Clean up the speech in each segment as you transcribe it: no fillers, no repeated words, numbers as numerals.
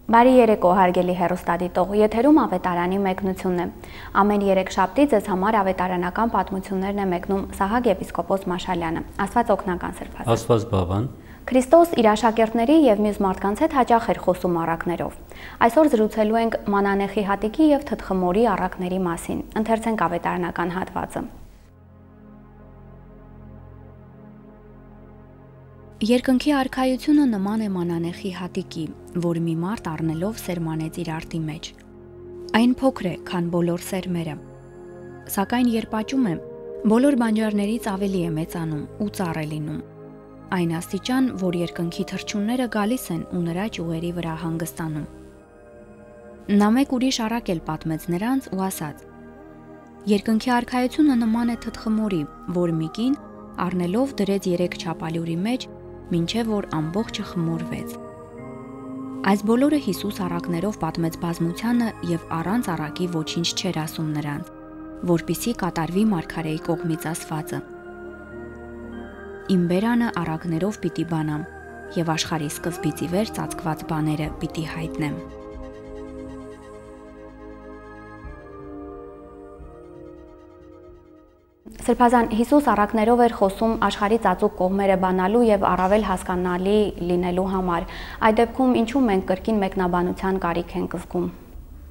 Բարի երեկո, հարգելի հեռուստադիտող, եթերում ավետարանի մեկնությունն է։ Ամեն երեքշաբթի ձեզ համար ավետարանական պատմություններն է մեկնում Սահակ եպիսկոպոս Մաշալյանը։ Աստված օգնական Սրբազան։ Աստված բավան։ Քրիստոս իր աշակերտների եւ մյուս մարդկանց հետ հաճախ էր խոսում առակներով։ Այսօր զրուցելու ենք մանանեխի հատիկի եւ թթխմորի առակների մասին։ Ընթերցենք ավետարանական հատվածը։ Երկնքի արքայությունը նման է մանանեխի հատիկի, որ մի մարդ առնելով սերմանեց իր արտի մեջ։ Այն փոքր է, քան բոլոր սերմերը, սակայն երբ աճում է, բոլոր բանջարներից ավելի է մեծանում ու ծառ է լինում։ Այն աստիճան, որ երկնքի թռչունները գալիս են ու նրա ճյուղերի վրա հանգստանում։ Նա մեկ ուրիշ առակ էլ պատմեց նրանց ու ասաց. Երկնքի արքայությունը նման է թթխմորի, որ մի կին առնելով դրեց 3 չափալյուրի մեջ, մինչև որ ամբողջը խմորվեց։ Այս բոլորը Հիսուս առակներով պատմեց բազմությանը եւ առանց առակի ոչինչ չէր ասում նրանց, որպիսի կատարվի մարգարեի կողմից ասվածը. Իմ բերանը առակներով պիտի բանամ եւ աշխարհի սկզբից ի վեր ծածկված բաները պիտի հայտնեմ։ Սրբազան, Հիսուս առակներով էր խոսում աշխարհի ծածուկ կողմերը բանալու եւ առավել հասկանալի լինելու համար։ Այդ դեպքում ինչու մենք կրկին մեկնաբանության կարիք ենք զգում։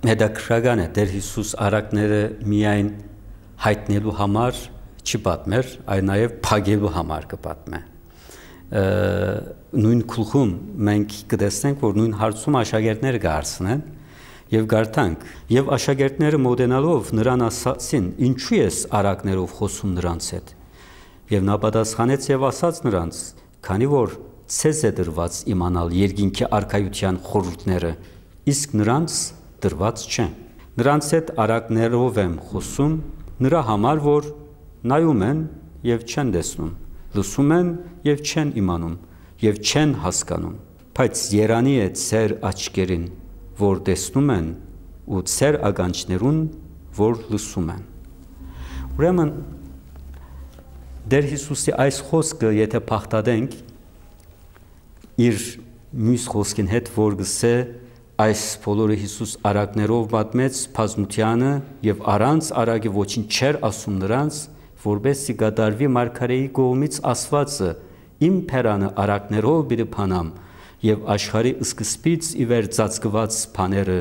Հետաքրքրական է, Տեր Հիսուս առակները միայն հայտնելու համար չի պատմեր, այլ նաեւ փակելու համար կպատմե։ Նույն գլխում մենք կտեսնենք, որ նույն հարցում աշակերտները կհարցնեն եւ գարտանք եւ աշակերտները մոտենալով նրան ասացին. ինչու ես առակներով խոսում նրանց հետ եւ նա պատասխանեց եւ ասաց նրանց. քանի որ ցեզ է դրված իմանալ երկինքի արքայության խորհուրդները, իսկ նրանց դրված չեն։ Նրանց հետ առակներով եմ խոսում նրա համար, որ նայում են եւ չեն տեսնում, լսում են եւ չեն իմանում եւ չեն հասկանում, բայց երանի է ծեր աչքերին, որ տեսնում են ու ծեր ականջներուն, որ լսում են։ Ուրեմն Տեր Հիսուսի այս խոսքը, եթե փախտadենք իր մյուս խոսքին հետ, որ գսե այս բոլորը Հիսուս առակներով պատմեց բազմությանը եւ առանց առակի ոչինչ չէր ասում նրանց, որբեսի կատարվի մարգարեի կողմից ասվածը. իմ փերանը առակներով պիտի բանամ եւ աշխարհի սկզբից ի վեր ծածկված բաները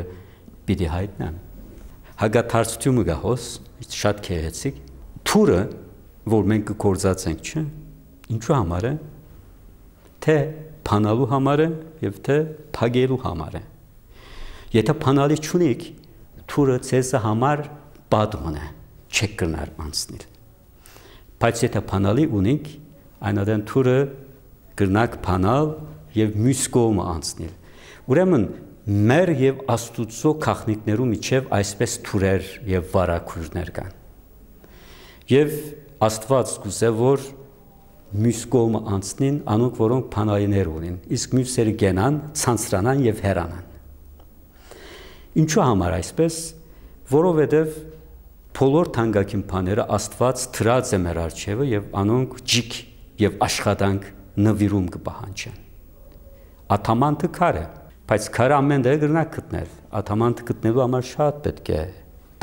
պիտի հայտնեմ։ Հագաթարցությունը գահոս շատ քեհեցիկ։ Թուրը, որ մենք կգործածենք, չէ՞, ինչու համար է։ Թե բանալու համար է եւ թե փակելու համար է։ Եթե բանալի չունիք, թուրը ցեզ համար պատմն է, չեք կնար անցնել։ Բայց եթե բանալի ունիք, այնադեն թուրը կրնակ բանալ եւ մյուս կողմը անցնել։ Ուրեմն մեր եւ Աստուծո քաղաքներու միջև այսպես թուրեր եւ վարակույրներ կան։ Եվ Աստված գուցե որ մյուս կողմը անցնին, անոնք որոնք բանալիներ ունեն, իսկ մյուսերը գենան, ցանցրանան եւ հեռանան։ Ինչու համար այսպես, որովհետեւ բոլոր թանկագին բաները Աստված դրած է մեր առջևը եւ անոնք ջիկ եւ աշխատանք նվիրում կպահանջեն։ Աթամանտը քար է, բայց քարը ամեն դեպքում գրնակ գտնել։ Աթամանտը գտնելու համար շատ պետք է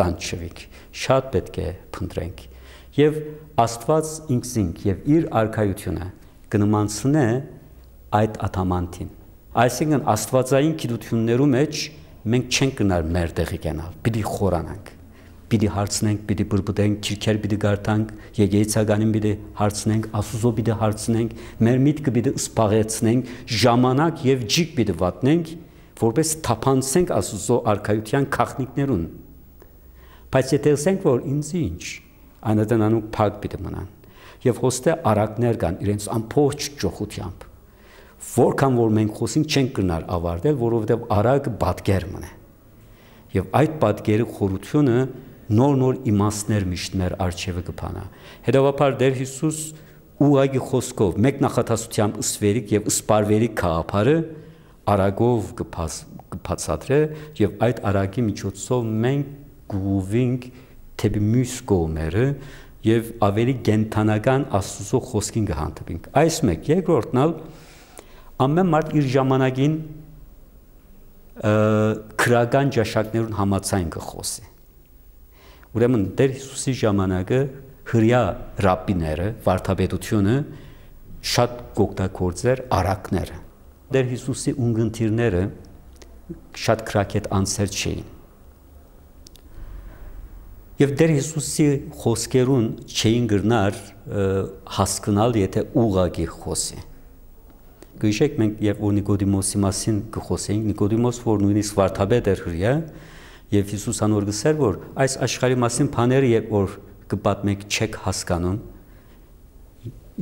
տանջվենք, շատ պետք է փնտրենք։ Եվ Աստված ինքնին եւ իր արքայությունը կնմանցնե այդ աթամանտին։ Այսինքն Աստվածային գիտություններու մեջ մենք չենք գնալ մեր տեղի գնալ, պիտի խորանանք, պիտի հարցնենք, պիտի բրբտենք, քիրքեր պիտի գարտանք, եկեղեցականին պիտի հարցնենք, Աստուծո պիտի հարցնենք, մեր միտքը պիտի սպաղեցնենք, ժամանակ եւ ջիկ պիտի վատնենք, որպես թափանցենք Աստուծո արքայության քաղաքներուն։ Բայց եթե ասենք, որ ինձ ինչ, այնտեղ անոնք փակ պիտի մնան։ Եվ հոստե առակներ կան իրենց ամբողջ ճոխությամբ։ Որքան որ մենք խոսենք չենք գնալ ավարտել, որովհետեւ առակը պատկեր մնա։ Եվ այդ պատկերի խորությունը նոր իմաստներ միշտ մեր արջևը կփանա։ Հետևաբար Տեր Հիսուս ուղղակի խոսքով մեկ նախատասությամբ ըսվերիկ եւ ըսպարվերիկ քաղաքարը արագով կբացատրե եւ այդ արագի միջոցով մենք գուվինք թեպի մյուս կողմերը եւ ավելի գենթանական Աստծո խոսքին կհանդիպենք։ Այս մեկ երկրորդն ամեն մարդ իր ժամանակին քրական ճաշակներուն համացայն կխոսի։ Ուրեմն Տեր Հիսուսի ժամանակը հրյա ռաբբիները, վարդապետությունը շատ կօգտագործեր արակները։ Տեր Հիսուսի ունգընտիրները շատ քրակետ անձեր չէին։ Եվ Տեր Հիսուսի խոսքերուն չէին գրնար հասկանալ, եթե ուղղակի խոսի։ Գիշեք մենք երբ որ Նիկոդիմոսի մասին կխոսեինք, Նիկոդիմոս որ նույնիսկ վարդապետ էր հրյա, եւ Հիսուս անոր գսեր որ այս աշխարհի մասին բաները երբ որ կպատմեք չեք հասկանում,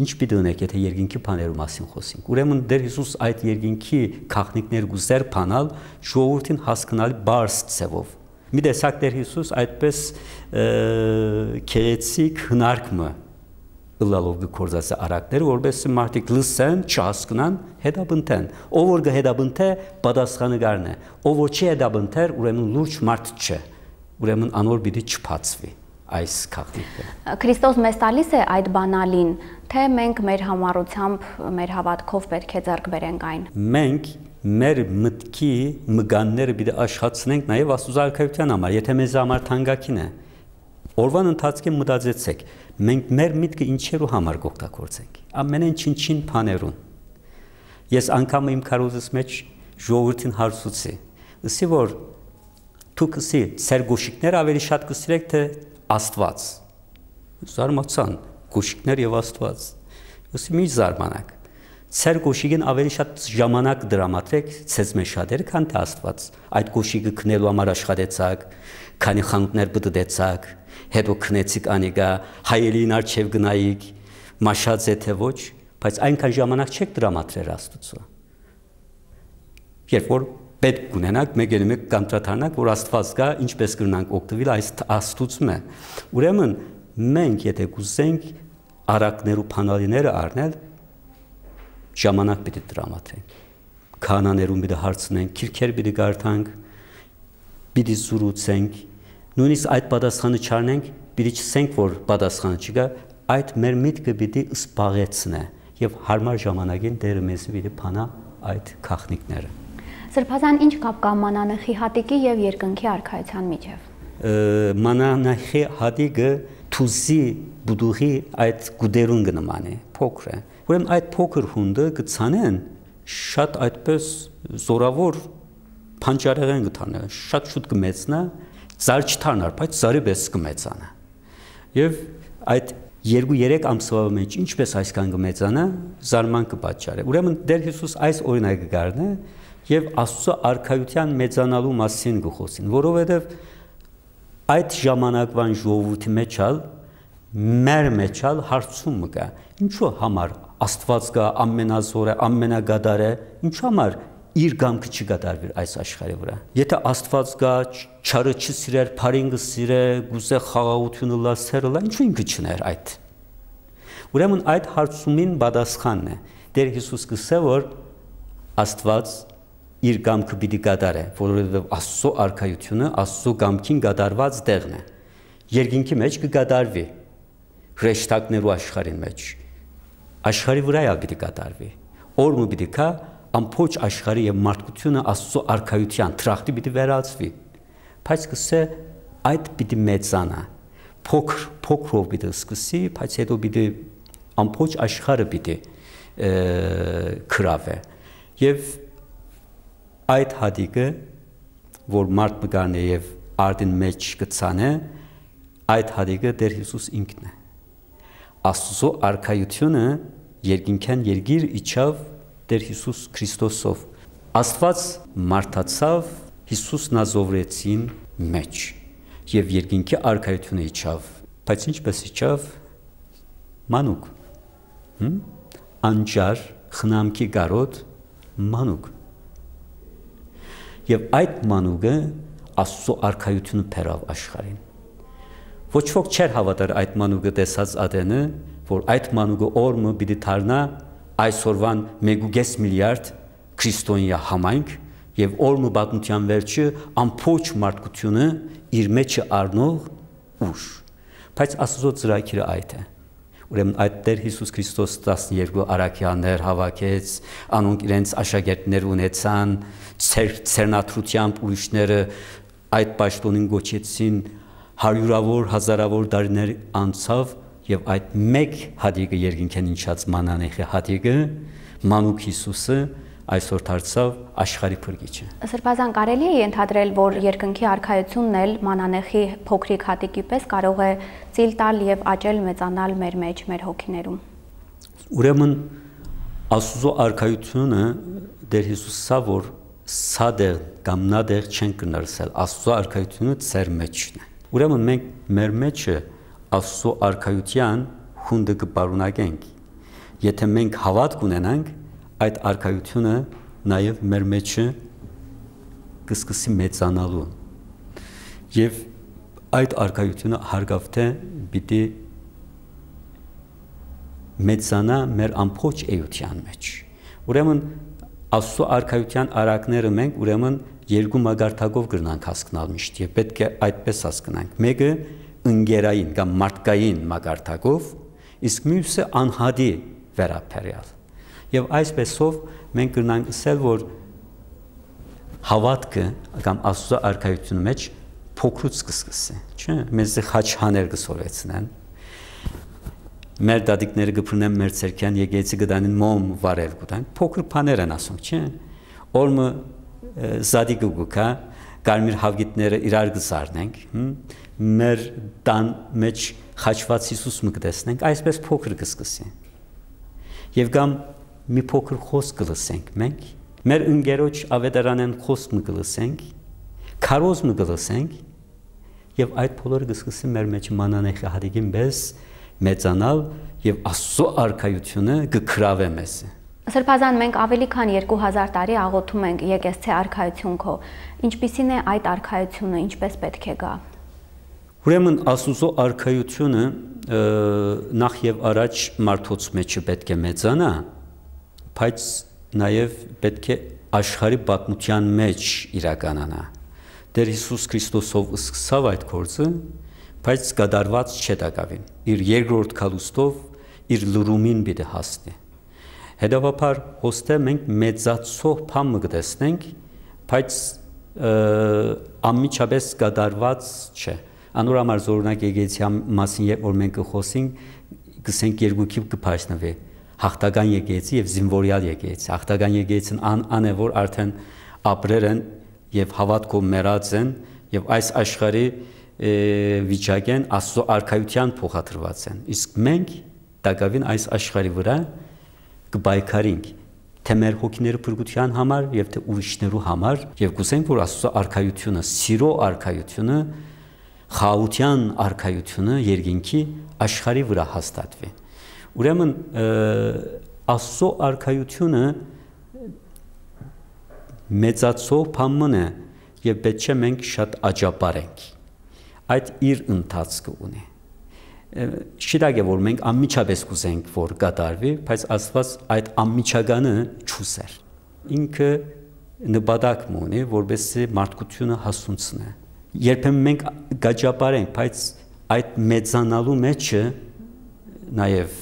ինչ պիտի ունեք, եթե երկինքի բաներու մասին խոսենք։ Ուրեմն Տեր Հիսուս այդ երկինքի քաղաքներ գուզեր բանալ ժողովրդին հասկանալի բարձ ցևով։ Մի տեսակ Տեր Հիսուս այդպես քերեցիկ հնարքմը լալով գործած արակները, որովհետեւ մարդիկ լսեն, չհասկանան, հետաբնթեն։ Ով որ կհետաբնթե, պատասխանը գարն է։ Ով որ չի հետաբնթեր, ուրեմն լուրջ մարդ չէ։ Ուրեմն անոր պիտի չփածվի այս քաղաքը։ Քրիստոս մեզ տալիս է այդ բանալին, թե մենք մեր համառությամբ, մեր հավատքով պետք է ձեռք բերենք այն։ Մենք մեր մտքի մգանները պիտի աշխատենք նաև աստուծարքայության համար, եթե մեզ համար թանկագին է։ Օրվան ընթացքում մտածեցեք, մենք մեր միտքը ինչերու համար կօգտագործենք։ Ամենեն չին բաներուն։ Ես անգամ իմ քարոզս մեջ ժողովրդին հարցուցի, ասի որ դուք ասի ծեր գոշիկներ ավելի շատ կսիրեք թե Աստված։ Զարմացան գոշիկներ եւ Աստված։ Ասի մի զարմանակ։ Ծեր գոշիկին ավելի շատ ժամանակ դրամատրեք ցեզ մեջ շատերը, քան թե Աստված։ Այդ գոշիկը քնելու համար աշխատեցաք, քանի խանութներ բդդեցաք, հետո քնեցիք անիգա, հայելին արչև գնայիք, մաշած է թե ոչ, բայց այնքան ժամանակ չեք դրամատրել Աստծո։ Երբ որ պետք ունենաք, մեկ կանտրատարնակ, որ Աստված կա, ինչպես կրնանք օգտվել այս Աստծում է։ Ուրեմն մենք եթե կուզենք արակներու փանալիները առնել, ժամանակ պիտի դրամատրենք։ Քահանաներուն պիտի հարցնենք, քիրքեր պիտի գարտանք, պիտի զրուցենք, նույնիսկ այդ պատասխանը չառնենք, պիտի չսենք, որ պատասխանը չկա, այդ մեր միտքը պիտի սպաղեցնե եւ հարմար ժամանակին Տերը մեզ պիտի փանա այդ քաղաքները։ Սրբազան ինչ կապ կա մանանեխի հատիկի եւ երկնքի արքայության միջև։ Մանանեխի հատիկը թուզի բուդուղի այդ գուդերուն կնման է, փոքր է։ Ուրեմն այդ փոքր հունդը կցանեն շատ այդպես զորավոր փանջարեղեն կթանա, շատ շուտ կմեծնա, ծար չթարնար, բայց ծարի պես կմեծանա։ Եվ այդ 2-3 ամսվա մեջ ինչպես այսքան կմեծանա, զարման կպատճառի։ Ուրեմն Տեր Հիսուս այս օրինակը գարն է եւ Աստծո արքայության մեծանալու մասին կխոսին, որովհետեւ այդ ժամանակվան ժողովրդի մեջալ մեր մեջալ հարցումը կա, ինչու համար Աստված կա, ամենազոր է, ամենագադար է, ինչու համար իր գամքը չգադարվի այս աշխարհի վրա։ Եթե Աստված կա, չարը չսիրեր, փարին կսիրե, գուզե խաղաղությունը լասերը, ինչու ինքը չներ այդ։ Ուրեմն այդ հարցումին պատասխանն է։ Տեր Հիսուս կսե որ Աստված իր գամքը պիտի գադարե, որովհետև Աստծո արքայությունը Աստծո գամքին գադարված տեղն է։ Երկինքի մեջ կգադարվի, հրեշտակներու աշխարհին մեջ։ Աշխարհի վրա է պիտի գադարվի։ Օրը պիտի կա ամբողջ աշխարհի եւ մարդկությունը Աստծո արքայության տրախտի պիտի վերածվի։ Բայց կսե այդ պիտի մեծանա։ Փոքրով պիտի սկսի, բայց հետո պիտի ամբողջ աշխարհը պիտի քրավե։ Եվ այդ հատիկը, որ մարդ մգան է եւ արդին մեջ կցանե, այդ հատիկը Տեր Հիսուս ինքն է։ Աստծո արքայությունը երկինքան երգիր իջավ Տեր Հիսուս Քրիստոսով։ Աստված մարդացավ Հիսուս նազովրեցին մեջ եւ երկինքի արքայությունը իջավ, բայց ինչպես իջավ մանուկ։ Անջար խնամքի գարոտ մանուկ։ Եվ այդ մանուկը Աստծո արքայությունը փերավ աշխարհին։ Ոչ ոք չէր հավատար այդ մանուկը տեսած ադենը, որ այդ մանուկը օրը պիտի դառնա այսօրվան 1.5 միլիարդ քրիստոնյա համայնք եւ օրը պատմության վերջը ամբողջ մարդկությունը իր մեջը առնող ուժ։ Բայց Աստծո ծրագիրը այդ է։ Ուրեմն այդ Տեր Հիսուս Քրիստոս 12 առաքյալներ հավաքեց, անոնք իրենց աշակերտներ ունեցան, ցերնաթրությամբ ուրիշները այդ պաշտոնին գոչեցին, հարյուրավոր, հազարավոր տարիներ անցավ եւ այդ մեկ հատիկը երկինքեն ինչած մանանեխի հատիկը, մանուկ Հիսուսը այսօր դարձավ աշխարհի փրկիչը։ Սրբազան կարելի է ենթադրել, որ երկնքի արքայությունն էլ մանանեխի փոքրիկ հատիկի պես կարող է ծիլ տալ եւ աճել մեծանալ մեր մեջ, մեր հոգիներում։ Ուրեմն Աստծո արքայությունը Տեր Հիսուսը որ սադեր կամ նադեր չեն կնրսել, Աստծո արքայությունը ծեր մեջն է։ Ուրեմն մենք մեր մեջը Աստծո արքայության հունդը կպարունակենք։ Եթե մենք հավատ կունենանք, այդ արքայությունը նաև մեր մեջը կսկսի մեծանալու։ Եվ այդ արքայությունը հարգավթե պիտի մեծանա մեր ամբողջ էության մեջ։ Ուրեմն Աստծո արքայության արակները մենք ուրեմն երկու մագարտակով կրնանք հասկանալ միշտ եւ պետք է այդպես հասկանանք։ Մեկը ընկերային կամ մարդկային մագարտակով, իսկ մյուսը անհադի վերաբերյալ։ Եվ այսպեսով մենք կրնանք ասել, որ հավատքը կամ Աստծո արքայության մեջ փոքրուց կսկսի, չէ՞։ Մեզ խաչհաներ կսորեցնեն։ Մեր դադիկները կփրնեն մեր ցերքյան եկեցի գտանին մոմ վարել գտան։ Փոքր բաներ են ասում, չէ՞։ Օրը զադիկը գուկա, կարմիր հավգիտները իրար կսարնենք, մեր տան մեջ խաչված Հիսուս մը կտեսնենք, այսպես փոքր կսկսի։ Եվ կամ մի փոքր խոսք կլսենք մենք, մեր ընկերոջ ավետարանեն խոսք մը կլսենք, քարոզ մը կլսենք, եւ այդ բոլորը կսկսի մեր մեջ մանանեխի հատիկին պես մեծանալ եւ Աստծո արքայությունը կգրավե մեզ։ Սրբազան մենք ավելի քան 2000 տարի աղոթում ենք եկեղեցի արքայություն քո։ Ինչպիսին է այդ արքայությունը, ինչպես պետք է գա։ Ուրեմն Աստծո արքայությունը նախ եւ առաջ մարդոց մեջը պետք է մեծանա, բայց նաեւ պետք է աշխարհի պատմության մեջ իրականանա։ Տեր Հիսուս Քրիստոսով սկսավ այդ գործը, բայց կդարված չդակավին։ Իր երկրորդ քալուստով իր լուրումին պիտի հասնի։ Հետևաբար հոստե մենք մեծացող բան կտեսնենք, բայց անմիջապես կդարված չէ։ Անորամար զորունակ եկեցի մասին երբ որ մենք կխոսենք, գսենք երկուքի կփայտնվի։ Հաղթական եկեցի եւ զինվորյալ եկեցի։ Հաղթական եկեցին ան է որ արդեն ապրեր են եւ հավատքով մեռած են եւ այս աշխարհի վիճակեն Աստծո արքայության փոխադրված են։ Իսկ մենք դակավին այս աշխարհի վրա կբայքարենք թե մեր հոգիների փրկության համար եւ թե ուրիշներու համար եւ կուզենք որ Աստծո արքայությունը, սիրո արքայությունը, խաղաղության արքայությունը երկինքի աշխարհի վրա հաստատվի։ Ուրեմն Աստծո արքայությունը մեծացող բան է եւ պետք է մենք շատ աջապարենք։ Այդ իր ընթացքը ունի։ Շիրակ է որ մենք անմիջապես կուզենք որ կատարվի, բայց Աստված այդ անմիջականը չուզեր։ Ինքը նպատակ ունի, որովհետեւ մարդկությունը հասունցնի։ Երբեմն մենք գաջապարենք, բայց այդ մեծանալու մեջը նաև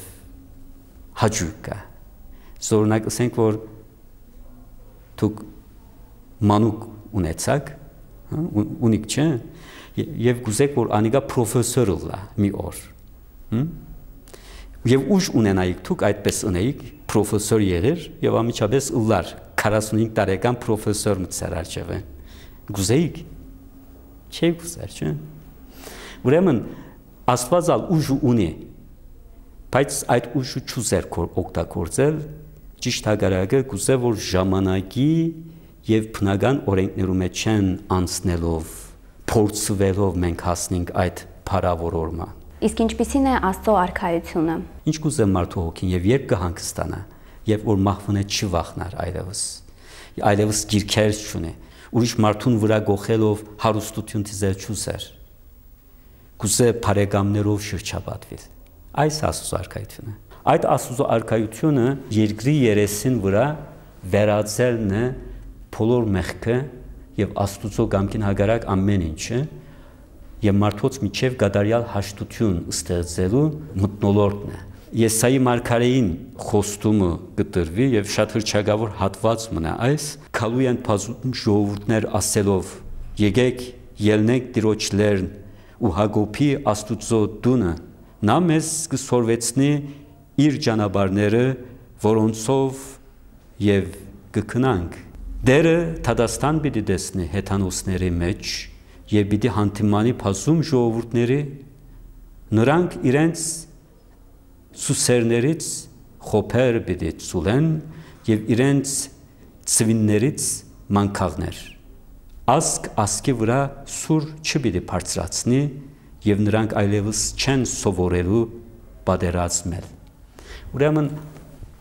հաջող կա։ Զորունակ ասենք որ դուք մանուկ ունեցաք, ունիք չէ, եւ գուզեք որ անիկա պրոֆեսոր լա մի օր։ Եվ ուժ ունենայիք դուք այդպես ունեիք պրոֆեսոր եղեր եւ ամիջապես ըլլար 45 տարեկան պրոֆեսոր մցար արջևը։ Գուզեիք չէ գուզեր, չէ։ Ուրեմն Աստվածալ ուժ ունի, բայց այդ ուժը չուզեր օգտագործել, ճիշտ հակառակը գուզե որ ժամանակի եւ բնական օրենքներու մեջ են անցնելով, փորձվելով մենք հասնենք այդ փառավորորմա։ Իսկ ինչպիսին է Աստծո արքայությունը։ Ինչ կուզե մարդու հոգին եւ երբ կհանգստանա, երբ որ մահվնե չվախնար այլևս գիրքեր չունի, ուրիշ մարդուն վրա գողելով հարուստություն դիզել չուզեր։ Կուզե բարեկամներով շրջապատվել։ Այս Աստծո արքայությունը։ Այդ Աստծո արքայությունը երկրի երեսին վրա վերածելն է բոլոր մեղքը եւ Աստծո կամքին հակառակ ամեն ինչը եւ մարդոց միջև գադարյալ հաշտություն ստեղծելու մթնոլորտն է։ Եսայի մարգարեին խոստումը գտրվի եւ շատ հրճագավոր հատված մնա այս քալույն բազում ժողովուրդներ ասելով եկեք ելնենք Տիրոջ լերն ու Հակոբի Աստուծո տունը նա մեզ կսորվեցնի իր ճանապարհները որոնցով եւ կքնանք դերը Թադաստան պիտի տեսնի հեթանոսների մեջ եւ պիտի հանդիմանի բազում ժողովուրդների նրանք իրենց սուսերներից խոփեր պիտի ցուլեն եւ իրենց ծվիններից մանկաղներ ասկ ասկի վրա սուր չպիտի բարձրացնի եւ նրանք այլևս չեն սովորելու պատերազմել ուրեմն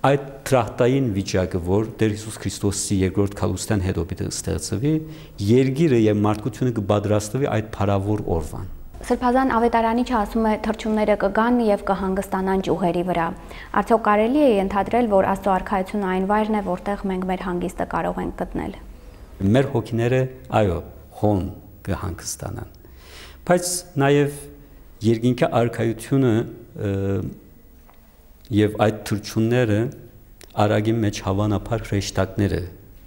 այդ տրախտային վիճակը որ Տեր Հիսուս Քրիստոսի երկրորդ քալուստան հետո պիտի ստեղծվի երկիրը եւ մարդկությունը կպատրաստվի այդ փառավոր օրվան Սրբազան ավետարանի ասում է թրջունները կգան եւ կհանգստանան ճյուղերի վրա։ Արդյոք կարելի է ենթադրել, որ Աստծո արքայությունը այն վայրն է, որտեղ մենք մեր հանգիստը կարող ենք գտնել։ Մեր հոգիները, այո, հոն կհանգստանան։ Բայց նաեւ երկինքի արքայությունը եւ այդ թրջունները արագի մեջ հավանաբար հրեշտակները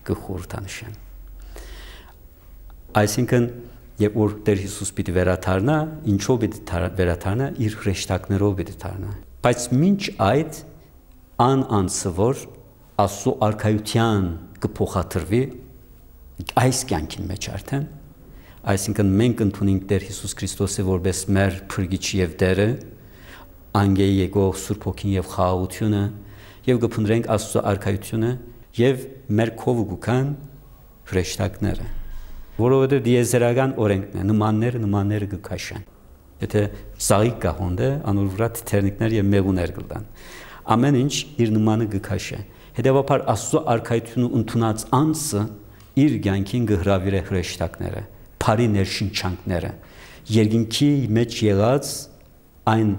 կխորհրդանշեն։ Այսինքն Երբ որ Տեր Հիսուս պիտի վերադառնա, ինչով պիտի վերադառնա, իր հրեշտակներով պիտի դառնա։ Բայց մինչ այդ անցը որ Աստծո արքայության կփոխադրվի այս կյանքին մեջ արդեն, այսինքն մենք ընդունենք Տեր Հիսուս Քրիստոսը որպես մեր փրկիչ եւ Տերը, անգեի եկող Սուրբ Հոգին եւ խաղաղությունը եւ կփնտրենք Աստծո արքայությունը եւ մեր քովը գուքան հրեշտակները որովհետև դիեզերական օրենքն է նմանները կքաշեն եթե ծաղիկ կա հոնդը անոր վրա թերնիկներ եւ մեղուներ կլան ամեն ինչ իր նմանը կքաշե հետեւաբար Աստծո արքայությունը ընդունած անձը իր կյանքին կհրավիրե հրեշտակները բարի ներշնչանքները երկինքի մեջ եղած այն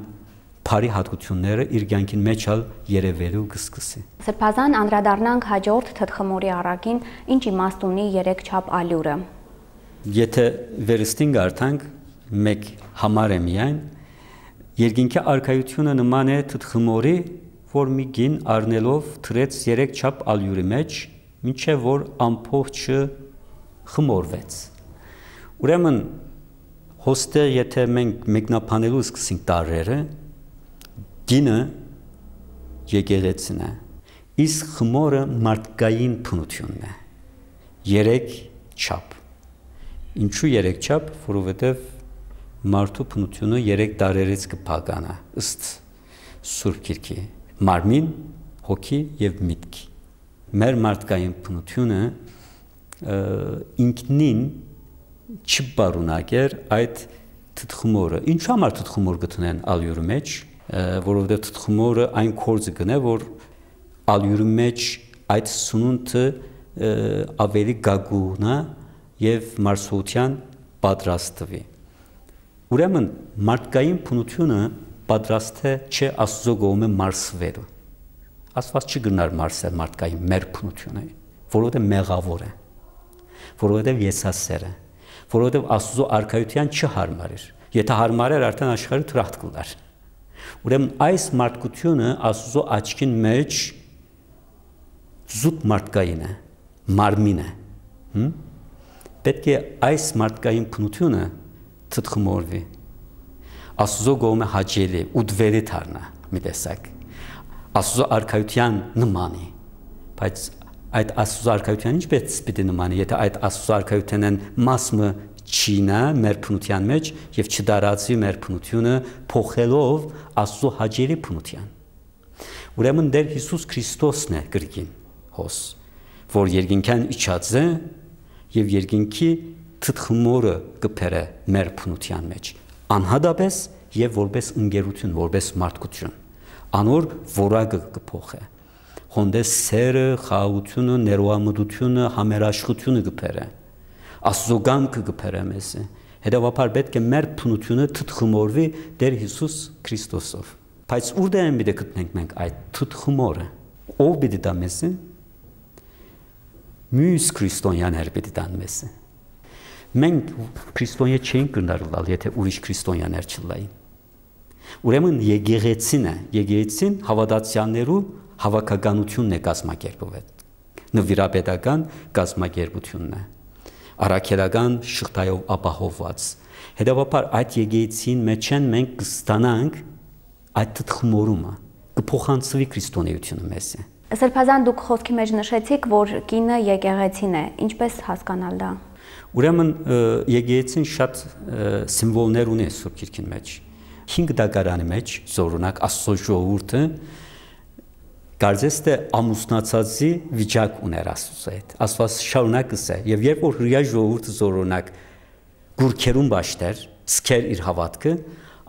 բարի հատկությունները իր կյանքին մեջ երևելու կսկսի Սրբազան անդրադառնանք հաջորդ թթխմորի առակին ինչ իմաստ ունի 3 չափ ալյուրը Եթե վերստին գարտանք մեկ համար է միայն երկինքի արքայությունը նման է թթխմորի որ մի գին առնելով թրեց 3 չափ ալյուրի մեջ մինչև որ ամփոփը խմորվեց ուրեմն հոստը եթե մենք մեկնաբանելու սկսենք տարրերը գինը եկեղեցին է իսկ խմորը մարդկային բնությունն է 3 չափ Ինչու 3 չափ, որովհետև մարդու բնությունը 3 տարերից կփականա, ըստ Սուրբ Գիրքի, մարմին, հոգի եւ միտք։ Մեր մարդկային բնությունը ինքնին չբարունակեր այդ թթխմորը։ Ինչու համար թթխմոր գտնեն ալյուրի մեջ, որովհետև թթխմորը այն կորձը գնե, որ ալյուրի մեջ այդ սնունդը ավելի գագունա եւ մարսողության պատրաստվի։ Ուրեմն մարդկային բնությունը պատրաստ է չէ Աստծո կողմը մարսվելու։ Աստված չգնար մարսել մարդկային մեր բնությունը, որովհետեւ մեղավոր է, որովհետեւ եսասեր է, որովհետեւ Աստծո արքայության չհարմար էր։ Եթե հարմար էր, արդեն աշխարհը թրախտ կլար։ Ուրեմն այս մարդկությունը Աստծո աչքին մեջ զուտ մարդկային է, մարմին է։ Պետք է այս մարդկային բնությունը թթխմորվի Աստծո կողմը հաճելի ու դվերի դառնա մի տեսակ Աստծո արքայության նմանի բայց այդ Աստծո արքայության ինչպես պիտի նմանի եթե այդ Աստծո արքայությանն մասը չինա մեր բնության մեջ եւ չդարածի մեր բնությունը փոխելով Աստծո հաճելի բնության ուրեմն Տեր Հիսուս Քրիստոսն է գրքին հոս որ երկինքան իջած է եւ երկինքի թթխմորը կփերը մեր բնության մեջ անհադապես եւ որպես ընկերություն որպես մարդկություն անոր որակը կփոխե հոնդես սերը խաղաղությունը ներողամտությունը համերաշխությունը կփերը Աստծո գամքը կփերը մեզ հետեւաբար պետք է մեր բնությունը թթխմորվի Տեր Հիսուս Քրիստոսով բայց ուր դե մենք գտնենք մենք այդ թթխմորը ով պիտի դա մեզ Մյուս քրիստոնյաներ պիտի տան մեզ։ Մենք քրիստոնյա չենք գնալու, եթե ուրիշ քրիստոնյաներ չլային։ Ուրեմն եկեղեցին է, եկեղեցին հավատացյալներու հավաքականությունն է կազմակերպվել։ Նվիրապետական կազմակերպությունն է, առաքելական շղթայով ապահովված։ Հետևաբար այդ եկեղեցին մեջ են մենք կստանանք այդ թխմորումը, կփոխանցվի քրիստոնեությունը մեզ։ Սրբազան դուք խոսքի մեջ նշեցիք, որ կինը եկեղեցին է, ինչպես հասկանալ դա։ Ուրեմն եկեղեցին շատ սիմվոլներ ունի Սուրբ Գիրքի մեջ։ 5 դագարանի մեջ զորունակ Աստծո ժողովուրդը կարծես թե ամուսնացածի վիճակ ուներ Աստծո հետ։ Աստված շարունակս է, եւ երբ որ հրյա ժողովուրդը զորունակ գուրքերուն բաշտեր, սկեր իր հավատքը,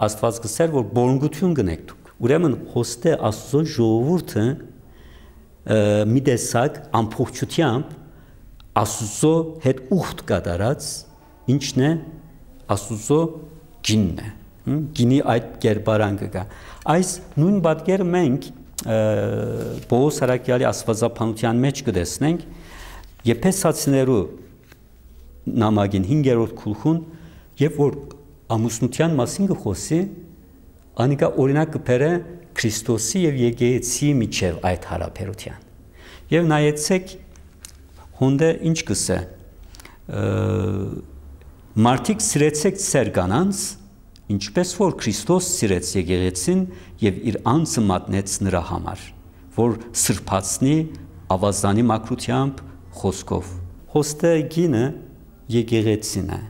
Աստված գսեր, որ բորունգություն գնեք դուք։ Ուրեմն հոստե Աստծո ժողովուրդը մի տեսակ ամփոփչությամբ Աստծո հետ ուխտ կատարած ինչն է Աստծո գինն է, գինի այդ կերպարանքը կա։ Այս նույն պատկերը մենք Պողոս Արաքյալի աստվածապանության մեջ կտեսնենք Եփեսացիներու նամակին 5-րդ գլխուն, երբ որ ամուսնության մասին կխոսի, անիկա օրինակ կբերե Քրիստոսի եւ եկեղեցի միջև այդ հարաբերության։ Եվ նայեցեք հոնդե ինչ կսե մարդիկ սիրեցեք ծեր կանանց, ինչպես որ Քրիստոս սիրեց եկեղեցին եւ իր անձը մատնեց նրա համար, որ սրբացնի ավազանի մաքրությամբ խոսքով։ Հոստե գինը եկեղեցին է,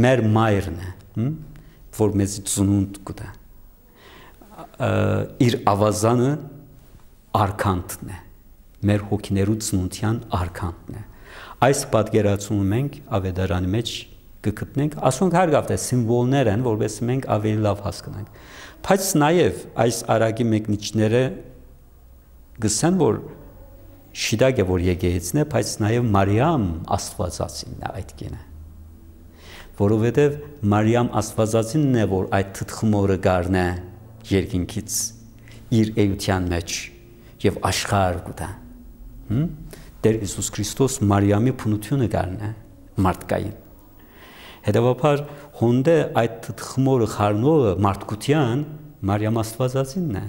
մեր մայրն է, որ մեզ ծնունդ կտա։ Իր ավազանը արքանտն է, մեր հոգիներու ծնունդյան արքանտն է։ Այս պատկերացումը մենք ավետարանի մեջ կգտնենք, ասոնք հարգավտ է սիմվոլներ են, որպես մենք ավելի լավ հասկանանք։ Բայց նաև այս արագի մեկնիչները գսեն, որ շիդակ է, որ եկեղեցին է, բայց նաև Մարիամ Աստվածածին է այդ կինը։ Որովհետև Մարիամ Աստվածածինն է, որ այդ թխմորը գարնե երկինքից իր էության մեջ եւ աշխարհ կուտա։ Տեր Հիսուս Քրիստոս Մարիամի փնությունը գարնե մարդկային։ Հետևաբար հոնդե այդ թխմորը խառնողը մարդկության Մարիամ Աստվածածինն է։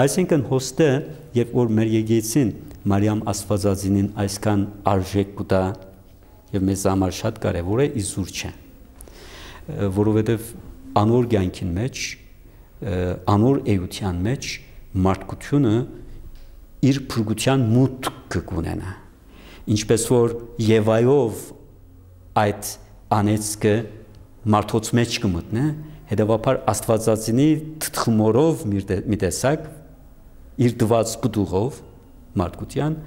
Այսինքն հոստե, երբ որ մեր եկեղեցին Մարիամ Աստվածածինին այսքան արժեք կուտա եւ մեզ համար շատ կարեւոր է, իզուր չէ, որովհետեւ անոր կյանքին մեջ, անոր էության մեջ մարդկությունը իր փրկության մուտքը կունենա, ինչպես որ Եվայով այդ անեցքը մարդոց մեջ կմտնե, հետևաբար Աստվածածինի թխմորով մի տեսակ իր դված գդուղով մարդկության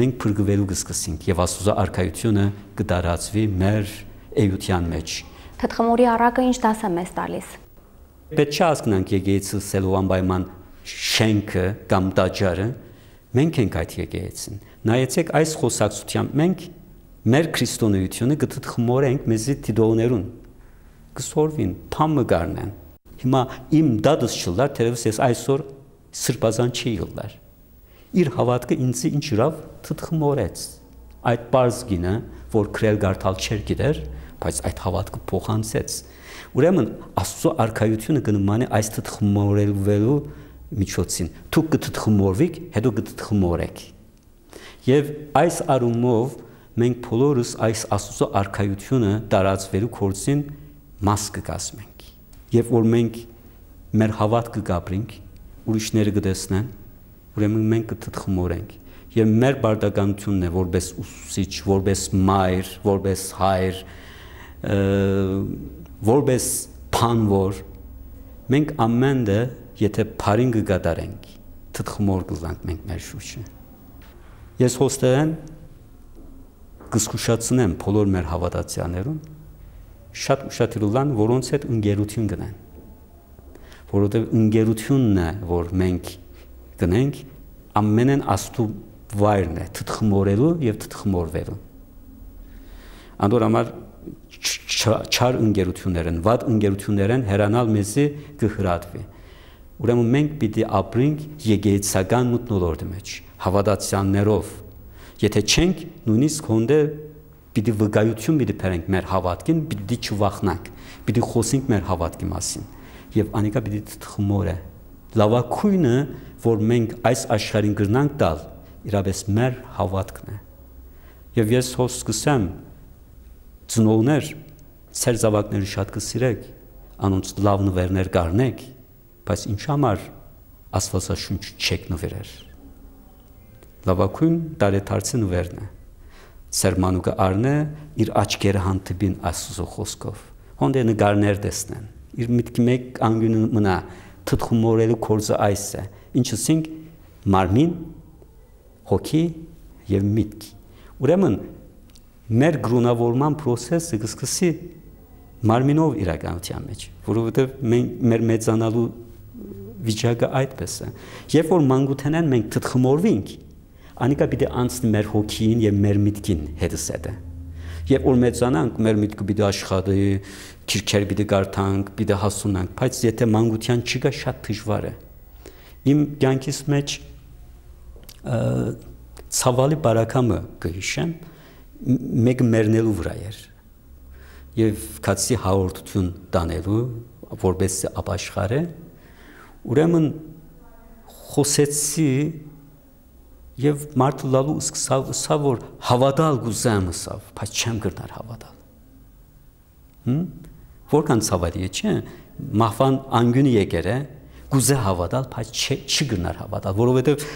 մենք փրկվելու կսկսենք եւ Աստծո արքայությունը կդարածվի մեր էության մեջ։ Թխմորի առակը ինչ դաս է մեզ տալիս։ Պետք է հասկանանք եկեղեցի սելու անպայման շենքը կամ տաճարը, մենք ենք այդ եկեղեցին։ Նայեցեք այս խոսակցությամբ մենք մեր քրիստոնեությունը կթխմորենք մեզի դիդողներուն, կսորվին, փամը գարնեն։ Հիմա իմ դադս չլար, թերևս ես այսօր սրբազան չի ելար։ Իր հավատքը ինձ ինչ իրավ թխմորեց։ Այդ բարձգինը, որ քրել գարտալ չեր գիտեր, բայց այդ հավատքը փոխանցեց։ Ուրեմն Աստծո արքայությունը կնմանի այս թխմորելու միջոցին։ Դուք կթխմորվեք, հետո կթխմորեք։ Եվ այս առումով մենք բոլորս այս Աստծո արքայությունը տարածվելու գործին մաս կկազմենք։ Եվ որ մենք մեր հավատքը կապրենք, ուրիշները կտեսնեն, ուրեմն մենք կթխմորենք։ Եվ մեր բարդականությունն է որպես ուսուցիչ, որպես մայր, որպես հայր, որպես փանվոր, մենք ամենը եթե բարին կգադարենք, թխմոր կլանք մենք մեր շուրջը։ Ես հոստերեն կզգուշացնեմ բոլոր մեր հավատացյալներուն, շատ ուշադրության, որոնց հետ ընկերություն գնեն, որովհետև ընկերությունն է, որ մենք գնենք, ամենեն Աստծո վայրն է, թխմորելու եւ թխմորվելու։ Անդոր համար չար ընկերություններն, վատ ընկերություններն հեռանալ մեզի կհրատվի։ Ուրեմն մենք պիտի ապրենք եկեղեցական մթնոլորտի մեջ, հավատացյալներով։ Եթե չենք, նույնիսկ հոնդե պիտի վկայություն պիտի բերենք մեր հավատքին, պիտի չվախնանք, պիտի խոսենք մեր հավատքի մասին։ եւ անիկա պիտի թխմորը լավակույնը որ մենք այս աշխարհին գրնանք տալ իրապես մեր հավատքն է եւ ես հոս սկսեմ ծնողներ ծեր զավակները շատ կսիրեք անոնց լավ նվերներ կառնեք բայց ինչ համար Աստվածաշունչ չեք նվերեր լավակույն դարեթարցի նվերն է Սերմանուկը առնե իր աչքերը հանդիպին Աստծո խոսքով հոնդե նկարներ տեսնեն իր միտքի մեկ անգյունը մնա թթխումորելու կորձը այս է ինչսինք մարմին հոգի եւ միտք ուրեմն մեր գրունավորման process-ը կսկսի մարմինով իրականության մեջ որովհետեւ մեր մեծանալու վիճակը այդպես է երբ որ մանկութենեն մենք թթխմորվենք անիկա պիտի անցնի մեր հոգին եւ մեր միտքին հետսեդը երբ որ մեծանանք մեր միտքը պիտի աշխատի քիրքեր պիտի գարտանք պիտի հասունանք բայց եթե մանկության չկա շատ դժվար է իմ կյանքիս մեջ ցավալի բարակամը կհիշեմ մեկ մեռնելու վրա էր եւ քացի հաղորդություն տանելու որպես ապաշխարը ուրեմն խոսեցի եւ մարդը լալու սկսա որ հավատալ գուզեմ ասավ բայց չեմ գրնար հավատալ որքան ցավալի է չէ մահվան անգյունի եկեր է գուզե հավատալ բայց չի գրնար հավատալ որովհետեւ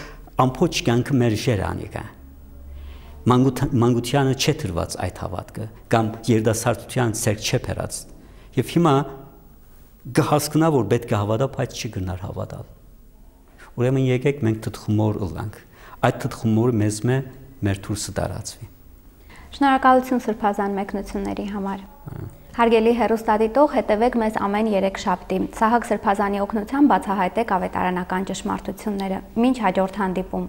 ամփոփ կյանքը մեր ժերանիկա մանկությանը չէ դրված այդ հավատքը կամ երդասարտության ցերկ չէ փերած եւ հիմա գահասկնա որ պետք է հավատա բայց չի գնար հավատալ ուրեմն եկեք մենք թթխմոր ըլանք այդ թթխմորը մեզ մեր դուրսը տարածվի Շնորհակալություն Սրբազան մեկնությունների համար Հարգելի հեռուստադիտող հետևեք մեզ ամեն 3 շաբթի Սահակ Սրբազանի օգնությամբ բացահայտեք ավետարանական ճշմարտությունները մինչ հաջորդ հանդիպում